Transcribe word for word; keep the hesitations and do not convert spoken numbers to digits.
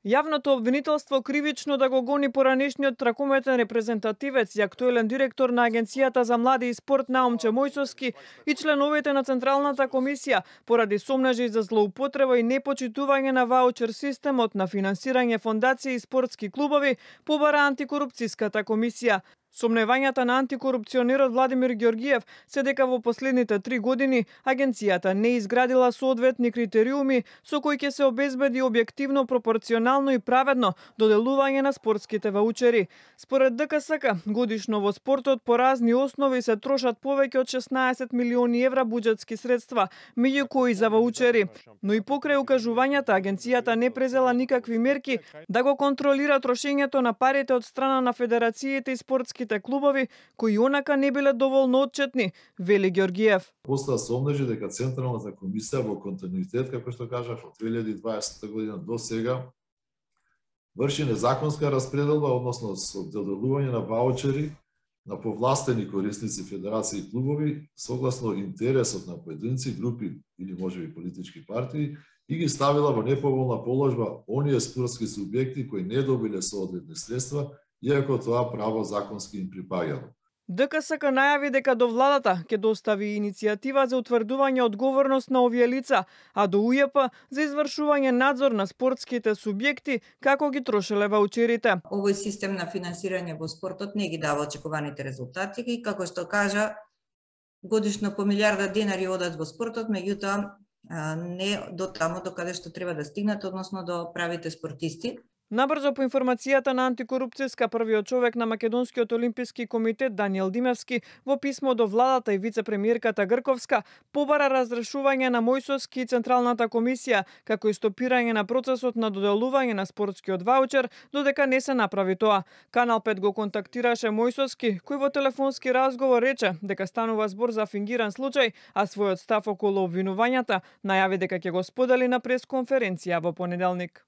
Јавното обвинителство кривично да го гони поранешниот тракометен репрезентативец и актуелен директор на Агенцијата за млади и спорт Наумче Мојсовски и членовите на Централната комисија поради сомнежи за злоупотреба и непочитување на ваучер системот на финансирање фондации и спортски клубови, побара антикорупцијската комисија. Сомневањата на антикорупционерот Владимир Ѓоргиев се дека во последните три години агенцијата не изградила соодветни критериуми со кои ќе се обезбеди објективно, пропорционално и праведно доделување на спортските ваучери. Според ДКСК, годишно во спортот по разни основи се трошат повеќе од шеснаесет милиони евра буџетски средства, меѓу кои за ваучери. Но и покрај укажувањата, агенцијата не презела никакви мерки да го контролира трошењето на парите од страна на федерациите и спортски клубови кои онака не биле доволно отчетни, вели Ѓоргиев. Постаа сомнежи дека Централната комисија во континуитет, како што кажав, од две илјади и дваесета година до сега врши незаконска распределба, односно со доделување на ваучери на повластени корисници, федерации и клубови согласно интересот на поединци, групи или можеби политички партии и ги ставила во неповолна положба оние спортски субјекти кои не добиле соодветни средства, иако тоа право законски им припаѓало. ДКСК најави дека до владата ќе достави иницијатива за утврдување одговорност на овие лица, а до УЈП за извршување надзор на спортските субјекти како ги трошеле ваучерите. Овој систем на финансирање во спортот не ги дава очекуваните резултати и како што кажа, годишно по милијарда денари одат во спортот, меѓутоа не до таму до каде што треба да стигнат, односно до правите спортисти. Набрзо по информацијата на антикорупцијска, првиот човек на Македонскиот олимписки комитет Даниел Димевски во писмо до владата и вице-премиерката Грковска побара разрешување на Мојсовски и Централната комисија, како и стопирање на процесот на доделување на спортскиот ваучер, додека не се направи тоа. Канал пет го контактираше Мојсовски, кој во телефонски разговор рече дека станува збор за фингиран случај, а својот став околу обвинувањата најави дека ќе го сподели на пресконференција во понеделник.